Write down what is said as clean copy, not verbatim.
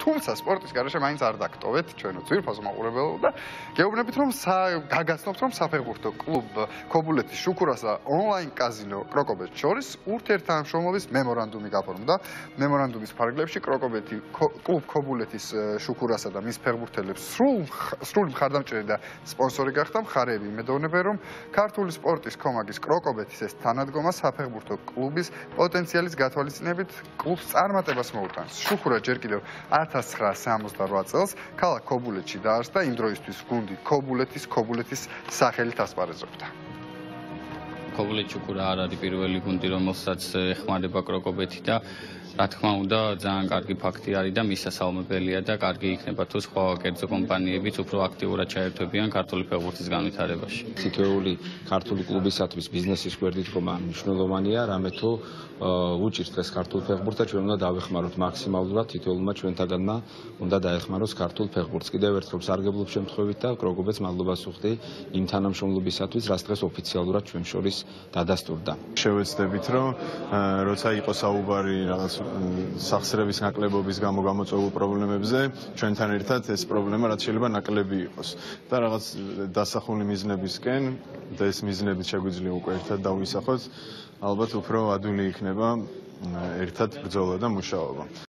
თუმცა სპორტის გარეშე მაინც არ დაგტოვეთ ჩვენო ძვირფას მაყურებელო და გეუბნებით რომ გაგაცნობთ რომ საფეხბურთო კლუბ ქობულეთის შუქურასა ონლაინ კაზინო კროკობეთს შორის ურთიერთთანამშრომლობის მემორანდუმი გაფორმდა. მემორანდუმის ფარგლებში კლუბ ქობულეთის შუქურასა და მის ფეხბურთელებს სრული მხარდამჭერი და სპონსორი გახდა. მხარეები იმედოვნებენ რომ ქართული სპორტის კომაგის კროკობეთის ეს თანადგომა საფეხბურთო კლუბის პოტენციალის გათვალისწინებით კლუბს წარმატებას მოუტანს. შუქურა ჯერ კიდევ 1968 წელს ქალაქ ქობულეთში დაარსდა, იმ დროისთვის გუნდი ქობულეთის სახელით ასპარეზობდა. ქობულეთის შუქურა არ არის პირველი გუნდი, რომელსაც ეხმარება კროკობეთი და რა თქმა უნდა, ძალიან კარგი ფაქტი არის და მისასალმებელია და კარგი იქნება თუ სხვა კერძო კომპანიებიც უფრო აქტიურად ჩაერთვებიან ქართული ფეხბურთის განვითარებაში. თითოეული ქართული კლუბისათვის ბიზნესის გვერდით ხომა მნიშვნელოვანია, რამე თუ უჭირს დღეს ქართულ ფეხბურთს და ჩვენ უნდა დავეხმაროთ მაქსიმალურად თითოეულმა ჩვენთაგანმა უნდა დაეხმაროს ქართულ ფეხბურთს. კიდევ ერთხელ სარგებლობის შემთხვევით და კროკობეთს მადლობას ვუხდი იმ თანამშრომლობისათვის, რაც დღეს ოფიციალურად ჩვენ შორის დადასტურდა. შევეცდებით, რომ როცა იყო საუბარი რაღაც სახსრების ნაკლებობის გამო გამოწვეულ პრობლემებზე, ჩვენთან ერთად ეს პრობლემა რაც შეიძლება ნაკლები იყოს და რაღაც დასახული მიზნებისკენ და ეს მიზნები შეგვიძლია უკვე ერთად დავისახოთ, ალბათ უფრო ადვილი იქნება ერთად ბრძოლა და მუშაობა.